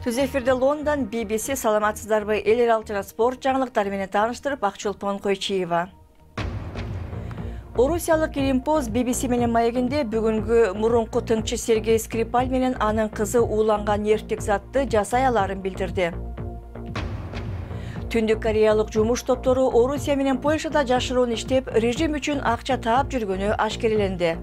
Түз эфирде Лондон, BBC, саламатсыздарбы, эл алып жана спорт жаңылыктары менен тааныштырып, Акчолпон Койчиева. Орусиялык Илимпоз BBC менен маегинде бүгүнгү мурунку тыңчы Сергей Скрипаль менен анын кызы ууланган нервтик затты жасай аларын билдирди. Түндүк Кореялык жумуш топтору Орусия менен Польшада жашыруун иштеп, режим үчүн акча таап жүргөнү ашкереленди.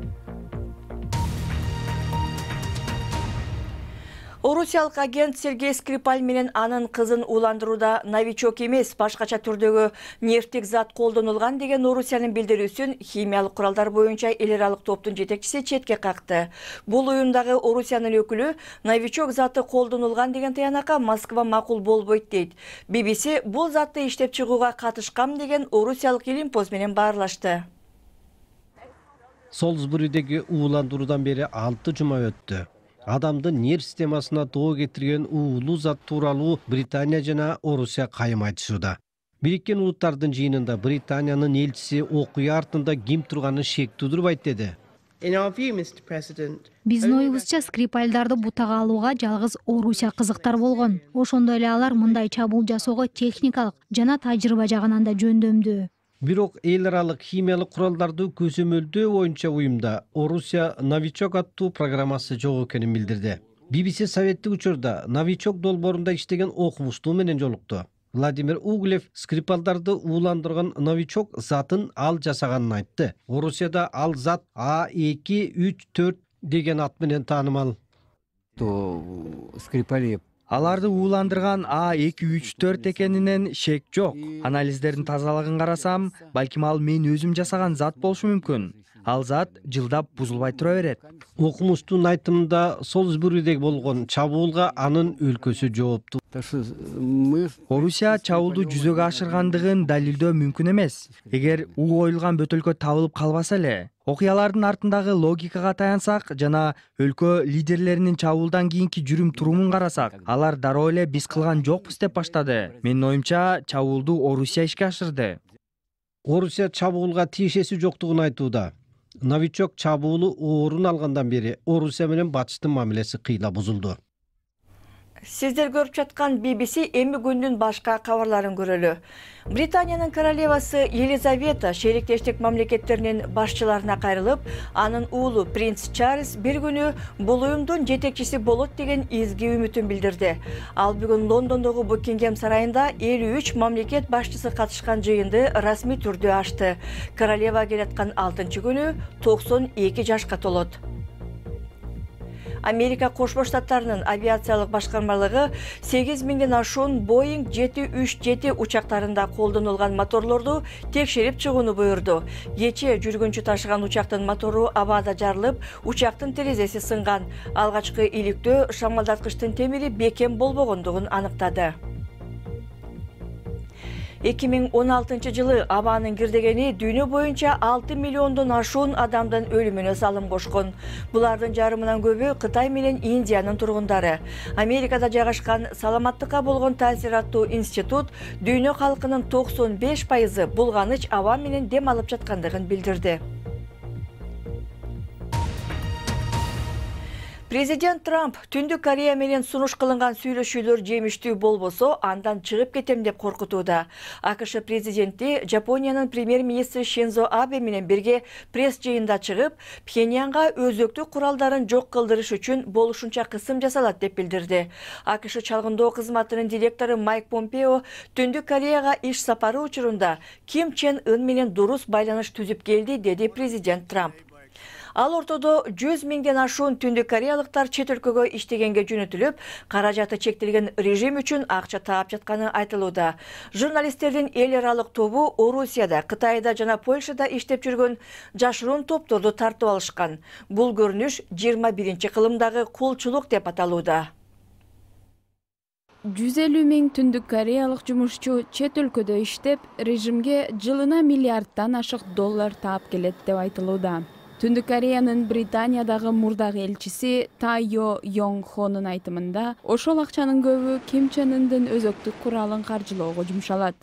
Орусиялык агент Сергей Скрипаль менен анын кызын ууландырууда новичок эмес, башкача түрдөгү нервтик зат колдонулган деген Орусиянын билдирүүсүн химиялык куралдар боюнча эл аралык топтун жетекчиси четке какты. Бул уюмдагы Орусиянын өкүлү новичок заты колдонулган деген таянакка Москва макул болбойт дейт. BBC бул затты иштеп чыгууга катышкам деген Орусиялык Илимпоз менен баарлашты. Солсбуридеги ууландыруудан бери 6 жума өттү. Адамдын нерв системасына тоо кетирген уулуу зат тууралуу Британия жана Орусия кайым айтышууда. Бириккен Улуттардын жыйынында Британиянын элчиси окуя артында ким турганын шек тудурбайт деди. Биздин оюбузча Скрипальдарды бутага алууга жалгыз Орусия кызыктар болгон. Ошондой эле алар мындай чабуул жасоого техникалык жана тажрыйба жагынан да жөндөмдүү. Бирок эл аралык химиялык куралдарды көзөмөлдөө боюнча уюмда Орусия новичок аттуу программасы жок экенин билдирди. BBC советтик учурда новичок долбоорунда иштеген окумуштуу менен жолукту. Владимир Углев Скрипалдарды ууландырган новичок затын ал жасаганын айтты. Орусияда ал зат А234 деген ат менен таанымал. Аларды ууландырган А234 экенинен шек жок. Анализдердин тазалыгын карасам, балким ал мен өзүм жасаган зат болушу мүмкүн. Ал зат жылдап бузулбай тура берет. Окумуштун айтымында Солсбуридеги болгон чабуулга анын өлкөсү жооптуу. Орусия чабуулду жүзөгө ашыргандыгын далилдөө мүмкүн эмес. Эгер уу коюлган бөтөлкө табылып калбаса эле, окуялардын артындагы логикага таянсак жана өлкө лидерлеринин чабуулдан кийинки жүрүм турумун карасак, алар дароо эле биз кылган жокпуз деп баштады. Менин оюмча, чабуулду Орусия ишке ашырды. Орусия чабуулга тиешеси жоктугун айтууда. Новичок чабуулу орун алгандан бери Орусия менен батыштын мамилеси кыйла бузулду. Сиздер көрүп жаткан BBC эми күндүн башка кабарларын көрөлү. Британиянын королевасы Елизавета шериктештик мамлекеттеринин башчыларына кайрылып, анын уулу принц Чарльз бир күнү бул уюмдун жетекчиси болот деген изги үмүтүн билдирди. Ал бүгүн Лондондогу Букингем сарайында 53 мамлекет башчысы катышкан жыйынды расмий түрдө ачты. Королева келаткан 6-күнү 92 жашка толот. Америка Кошмо Штаттарынын авиациялык башкармалыгы 8000ден ашуун Boeing 737 учактарында колдонулган моторлорду текшерип чыгууну буйрду. Кече жүргүнчү ташыган учактын мотору абада жарылып, учактын терезеси сынган. Алгачкы иликтөө шамалдаткычтын темири бекем болбогондугун аныктады. 2016 жылы абанын кирдегени дүйнө боюнча 6 миллиондон ашуун адамдын өлүмүнө салым кошкон. Булардын жарымынан көбү Кытай менен Индиянын тургундары. Америкада жайгашкан саламаттыкка болгон таасир аттуу институт дүйнө калкынын 95% булганыч аба менен дем алып жаткандыгын билдирди. Президент Трамп Түндүк Корея менен сунуш кылынган сүйлөшүүлөр жемиштүү болбосо, андан чыгып кетем деп коркутууда. АКШ президенти Жапониянын премьер-министри Шинзо Абе менен бирге пресс жыйында чыгып, Пхеньянга өзөктүк куралдарын жок кылдырыш үчүн болушунча кысым жасалат деп билдирди. АКШ чалгындоо кызматынын директору Майк Помпео Түндүк Кореяга иш сапары учурунда Ким Чен Ын менен дурус байланыш түзүп келди, деди президент Трамп. Ал ортодо 100 миңден ашуун түндүк кореялыктар чет өлкөгө иштегенге жөнөтүлүп, каражаты чектелген режим үчүн акча таап жатканы айтылууда. Журналисттердин эл аралык тобу Орусияда, Кытайда жана Польшада иштеп жүргөн жашыруун топторду тартып алышкан. Бул көрүнүш 21-кылымдагы кулчулук деп аталууда. 150 миң түндүк кореялык жумушчу чет өлкөдө иштеп, режимге жылына миллиарддан ашык доллар таап келет деп айтылууда. Түндүк Кореянын Британиядагы мурдагы элчиси Тайо Йонг Хонун айтымында, ошол акчанын көбү Ким Чен Ындын өзөктүк куралын каржылоого жумшалат.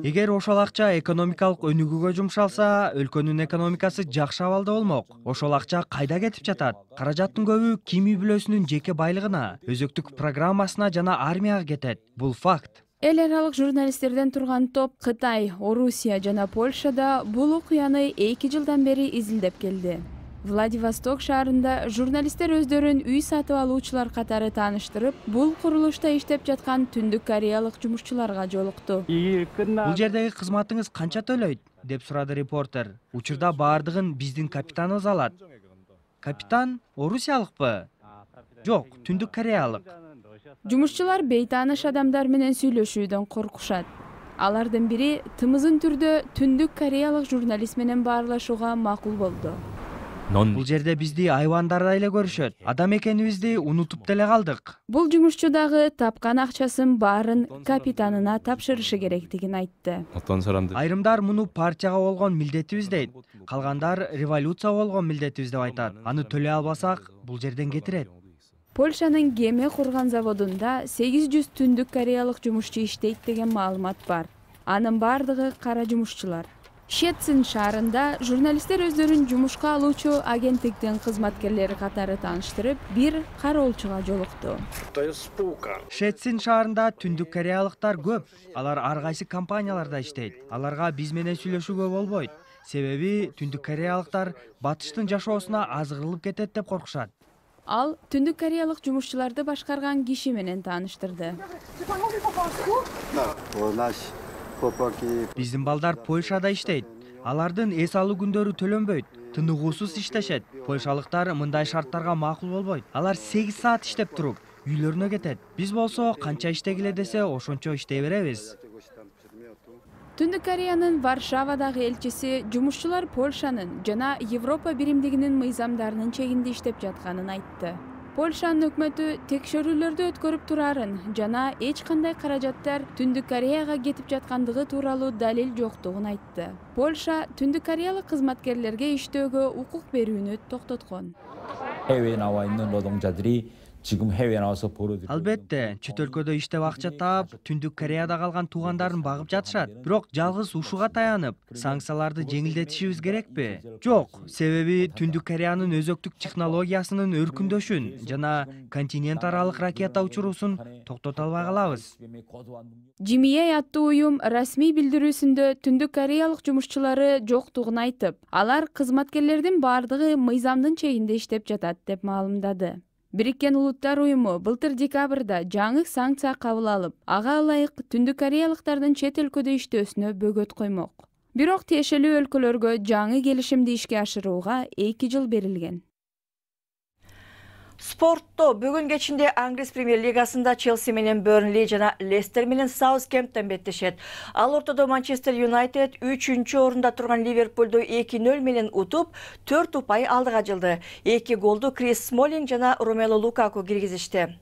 Эгер ошол акча экономикалык өнүгүүгө жумшалса, өлкөнүн экономикасы жакшы абалда болмок. Ошол акча кайда кетип жатат? Каражаттын көбү Ким үй бүлөсүнүн жеке байлыгына, өзөктүк программасына жана армияга кетет. Бул факт. Эл аралык журналисттерден турган топ Кытай, Орусия жана Польшада бул окуяны 2 жылдан бери изилдеп келди. Владивосток шаарында журналисттер өздөрүн үй сатып алуучулар катары тааныштырып, бул курулушта иштеп жаткан түндүк кореялык жумушчуларга жолукту. Бул жердеги кызматыңыз канча төлөйт? Деп сурады репортер. Учурда баардыгын биздин капитаныбыз алат. Капитан орусиялыкпы? Жок, түндүк кореялык. Жумушчулар бейтааныш адамдар менен сүйлөшүүдөн коркушат. Алардын бири тымызын түрдө түндүк кореялык журналист менен баарлашууга макул болду. Бул жерде бизди айвандарда эле көрүшөт. Адам экенибизди унутуп деле калдык. Бул жумушчу дагы тапкан акчасын баарын капитанына тапшырышы керектигин айтты. Айрымдар муну партияга болгон милдетибиз дейт. Калгандар революция болгон милдетибиз деп айтат. Аны төлөй албасак, бул жерден кетирет. Польшанын кеме курган заводунда 800 түндүк кореялык жумушчу иштейт деген маалымат бар. Анын бардыгы кара жумушчулар. Щецин шаарында журналисттер өздөрүн жумушка алуучу агенттиктин кызматкерлери катары тааныштырып, бир кароолчуга жолукту. Щецин шаарында түндүк кореялыктар көп. Алар ар кайсы компанияларда иштейт. Аларга биз менен сүйлөшүүгө болбойт. Себеби түндүк кореялыктар батыштын жашоосуна азгырылып кетет деп коркушат. Ал түндүк кореялык жумушчуларды башкарган киши менен тааныштырды. Биздин балдар Польшада иштейт. Алардын эс алуу күндөрү төлөнбөйт. Тыныгуусуз иштешет. Польшалыктар мындай шарттарга макул болбойт. Алар 8 саат иштеп туруп, үйлөрүнө кетет. Биз болсо канча иштегиле десе, ошончо иштей беребиз. Түндүк Кореянын Варшавадагы элчиси жумушчулар Польшанын жана Европа биримдигинин мыйзамдарынын чегинде иштеп жатканын айтты. Польшанын өкмөтү текшерүүлөрдү өткөрүп турарын жана эч кандай каражаттар Түндүк Кореяга кетип жаткандыгы тууралуу далил жоктугун айтты. Польша Түндүк Кореялык кызматкерлерге иштөөгө укук берүүнү токтоткон. 해외에 나와 있는 노동자들이 지금 해외에 나와서 벌어들이고 Албетте, чет өлкөдө иштеп акча таап, Түндүк Кореяда калган туугандарын багып жатышат. Бирок жалгыз ушуга таянып, санкцияларды жеңилдетишибиз керекпи? Жок, себеби Түндүк Кореянын өзөктүк технологиясынын өркүндөшүн жана континент аралык ракета учуруусун токтото албай калабыз. Жимие аттуу уюм расмий билдирүүсүндө Түндүк Кореялык жумушчулары жоктугун айтып, алар кызматкерлердин бардыгы мыйзамдын чегинде иштеп жатат деп маалымдады. Бириккен Улуттар уюму былтыр декабрда жаңы санкция кабыл алып, ага ылайык Түндүк Кореялыктардын чет өлкөдө иштөөсүнө бөгөт коймок. Бирок тиешелүү өлкөлөргө жаңы келишимди ишке ашырууга 2 жыл берилген. Спортто бүгүн кечинде Англис премьер лигасында Челси менен Бернли жана Лестер менен Саутгемптон беттешет. Ал ортодо Манчестер Юнайтед 3-чү орунда турган Ливерпулду 2-0 менен утуп, 4 упай алдыга жылды. 2 голду Крис Смолинг жана Ромело Лукаку киргизишти.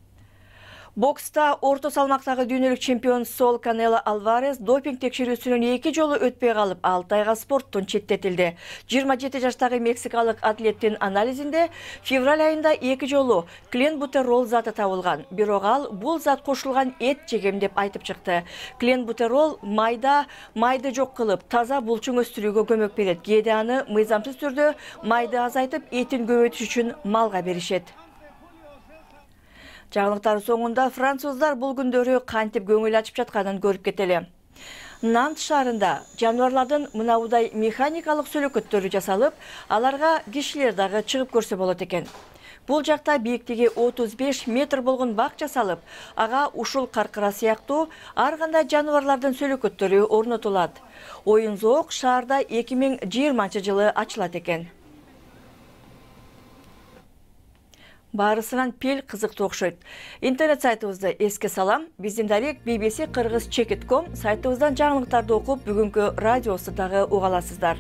Бокста орто салмактагы дүйнөлүк чемпион Сол Канело Алварес допинг текшерүүсүнөн 2 жолу өтпөй калып, 6 айга спорттон четтетилди. 27 жаштагы мексикалык атлеттин анализинде февраль айында 2 жолу кленбутерол заты табылган. Бирок ал бул зат кошулган эт жегем деп айтып чыкты. Кленбутерол майды жок кылып, таза булчуң өстүрүүгө көмөк берет. Кээде аны мыйзамсыз түрдө майды азайтып, этин көбөйтүш үчүн малга беришет. Жаңылыктар соңунда француздар бул күндөрү кантип көңүл ачып жатканын көрүп кетели. Нант шаарында жаныбарлардын мынабудай механикалык сөлөкөттөрү жасалып, аларга кишилер дагы чыгып көрсө болот экен. Бул жакта бийиктиги 35 метр болгон бак жасалып, ага ушул каркыра сыяктуу ар кандай жаныбарлардын сөлөкөттөрү орнотулат. Оюн зоок шаарда 2020-жылы ачылат экен. Барысынан пел кызыктуу окшойт. Интернет сайтыбызды эске салам. Биздин дарек BBC Кыргыз Чекит.com сайтыбыздан жаңылыктарды окуп, бүгүнкү радиосу дагы уга аласыздар.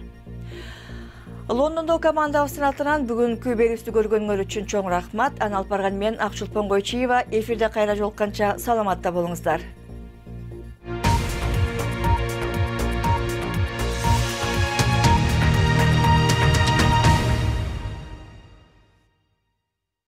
Лондондо командабыздын атынан бүгүнкү берүүбүздү көргөнүңөр үчүн чоң рахмат. Аны алып барган мен Акчулпон Койчиева. Эфирде кайра жолукканча саламатта болуңуздар.